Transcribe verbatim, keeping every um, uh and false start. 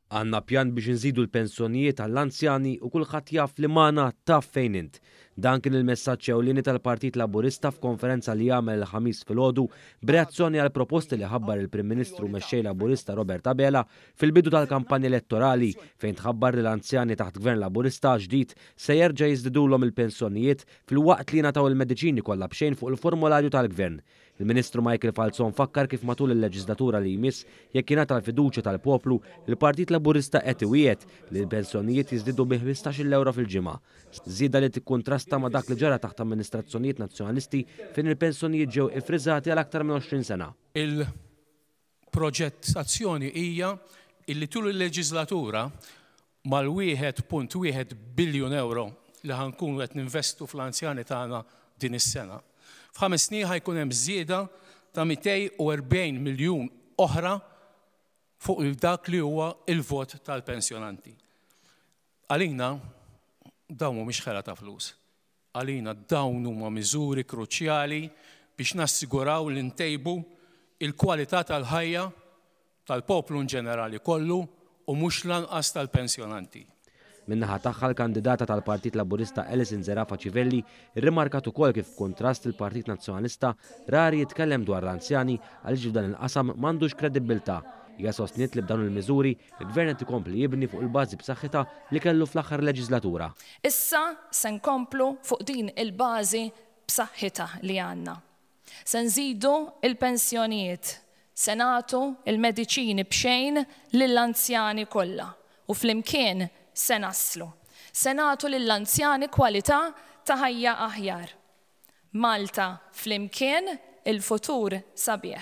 Għandna pjan biex nżidu l-pensjonijiet għall-anzjani u kulħadd jaf li magħna taf fejn int. Dan kien il-messaġġ ewlieni tal-Partit Laburista f'konferenza li għamel il-Ħamis filgħodu b'reazzjoni għal proposti li ħabbar il-Prim Ministru Mexxej Laburista Robert Abela fil-bidu tal-kampanja elettorali, fejn tħabbar li l-anzjani taħt Gvern Laburista ġdid se jerġa' jiżdidulhom il-pensjonijiet filwaqt li jingħataw il-mediċini kollha b'xejn fuq il-formularju tal-Gvern. Il-Ministru Michael Falzon fakkar kif matul il-leġislatura li jmiss, jekk jingħata l-fiduċja tal-poplu, il-Partit Laburista qed iwiegħed li l-pensjonijiet jiżdiedu bi ħmistax-il euro fil-ġimgħa. Żieda li tikkuntrasta ma' dak li ġara taħt amministrazzjonijiet nazzjonalisti, fejn il-pensjonijiet ġew ifriżati għal aktar minn għoxrin sena. Il-proġett azzjoni hija illi tul il-leġislatura mal-wieħed punt wieħed biljun euro li ħa nkunu qed ninvestu fl-anzjani tagħna din is-sena. F'ħames snin ħa jkun hemm żieda ta' mitejn u erbgħin miljun oħra fuq dak li huwa il-vot tal-pensjonanti. Għalina dawn mhumiex ħela ta' flus. Għalina dawn huma miżuri kruċjali biex nassiguraw li ntejbu il-kwalità tal-ħajja tal-poplu in ġenerali kollu u mhux lanqas tal-pensjonanti. Min-naħa tagħha, l-kandidata tal-Partit Laburista Alison Zerafa Civelli rrimarkat ukoll kif, kontrast, il-Partit Nazzjonalista rari jitkellem dwar l-anzjani għaliex f'dan il-qasam m'għandux kredibbiltà. Hija sostniet li b'dawn il-miżuri il-Gvern qed ikompli jibni fuq il-bażi b'saħħitha li kellu fl-aħħar leġislatura. Issa se nkomplu fuq din il-bażi b'saħħitha li għandna. Se nżidu il-pensjonijiet, se nagħtu il-mediċini b'xejn lill-anzjani kollha u flimkien se naslu. Se nagħtu lill-anzjani kwalità ta' ħajja aħjar. Malta flimkien, il-futur sabiħ.